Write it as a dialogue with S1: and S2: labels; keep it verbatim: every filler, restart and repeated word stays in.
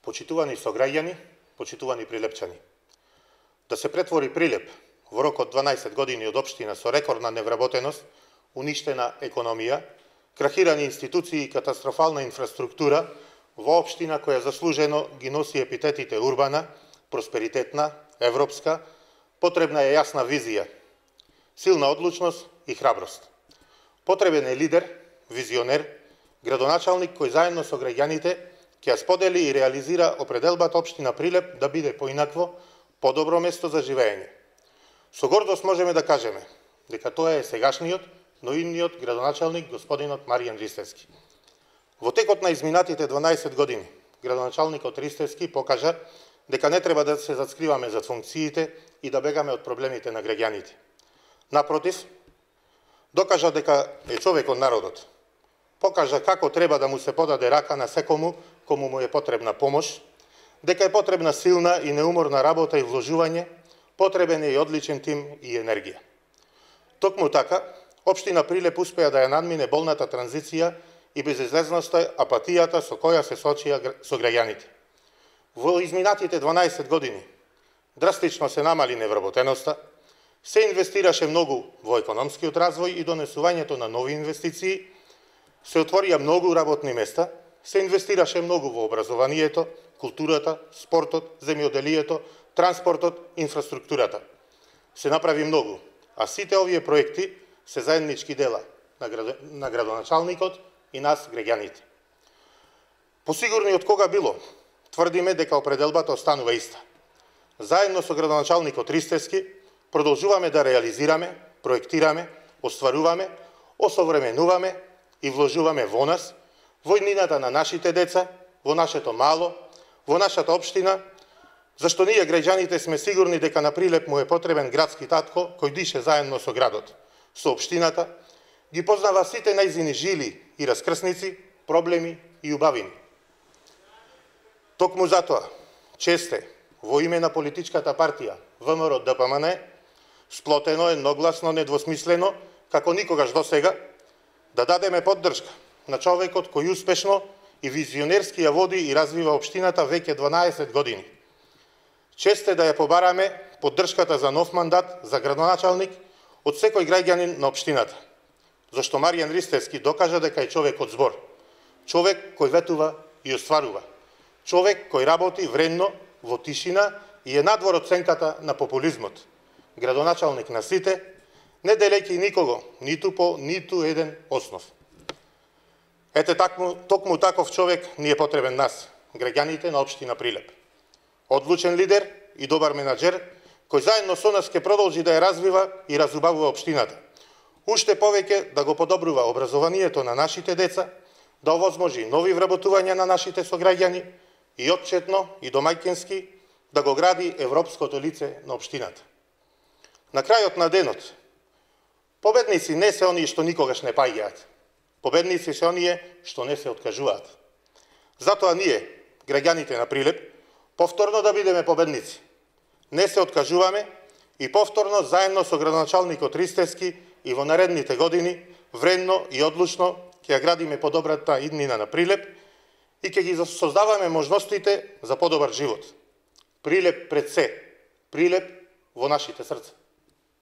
S1: Почитувани сограѓани, почитувани прилепчани. Да се претвори Прилеп во рок од дванаесет години од општина со рекордна невработеност, уништена економија, крахирани институции и катастрофална инфраструктура во општина која заслужено ги носи епитетите урбана, просперитетна, европска, потребна е јасна визија, силна одлучност и храброст. Потребен е лидер, визионер, градоначалник кој заедно со граѓаните ќе ја сподели и реализира определбата општина Прилеп да биде поинакво, подобро место за живење. Со гордост можеме да кажеме дека тоа е сегашниот, но идниот градоначалник господинот Маријан Ристевски. Во текот на изминатите дванаесет години, градоначалникот Ристевски покажа дека не треба да се зацкриваме за функциите и да бегаме од проблемите на граѓаните. Напротив, докажа дека е човек од народот. Покажа како треба да му се подаде рака на секому кому му е потребна помош, дека е потребна силна и неуморна работа и вложување, потребен е и одличен тим и енергија. Токму така, општина Прилеп успеа да ја надмине болната транзиција и безизлезноста, апатијата со која се соочија со граѓаните. Во изминатите дванаесет години драстично се намали невработеноста, се инвестираше многу во економскиот развој и донесувањето на нови инвестиции, се отворија многу работни места, се инвестираше многу во образованието, културата, спортот, земјоделието, транспортот, инфраструктурата. Се направи многу, а сите овие проекти се заеднички дела на, град... на градоначалникот и нас, граѓаните. Посигурни од кога било, тврдиме дека определбата останува иста. Заедно со градоначалникот Ристевски продолжуваме да реализираме, проектираме, остваруваме, осовременуваме и вложуваме во нас, во иднината на нашите деца, во нашето мало, во нашата општина, зашто ние граѓаните сме сигурни дека на Прилеп му е потребен градски татко кој дише заедно со градот, со општината, ги познава сите најзини жили и раскрсници, проблеми и убавини. Токму затоа, честе, во име на политичката партија ВМРО Д П М Н, сплотено, едногласно, недвосмислено, како никогаш досега, да дадеме поддршка на човекот кој успешно и визионерски ја води и развива општината веќе дванаесет години. Честе да ја побараме поддршката за нов мандат за градоначалник од секој граѓанин на општината, зашто Маријан Ристевски докажа дека е човек од збор, човек кој ветува и остварува, човек кој работи вредно во тишина и е надвор од сенката на популизмот, градоначалник на сите, не делејќи никого, ниту по ниту еден основ. Ете такму, токму таков човек ни е потребен нас, граѓаните на општина Прилеп. Одлучен лидер и добар менаџер, кој заедно со нас ќе продолжи да ја развива и разубавува општината. Уште повеќе да го подобрува образованието на нашите деца, да овозможи нови вработувања на нашите сограѓани и отчетно и домаќински да го гради европското лице на општината. На крајот на денот, победници не се оние што никогаш не паѓаат. Победници се оние што не се откажуваат. Затоа ние, граѓаните на Прилеп, повторно да бидеме победници. Не се откажуваме и повторно заедно со градоначалникот Ристевски и во наредните години вредно и одлучно ќе ја градиме подобрата иднина на Прилеп и ќе ги создаваме можностите за подобар живот. Прилеп пред се, Прилеп во нашите срца.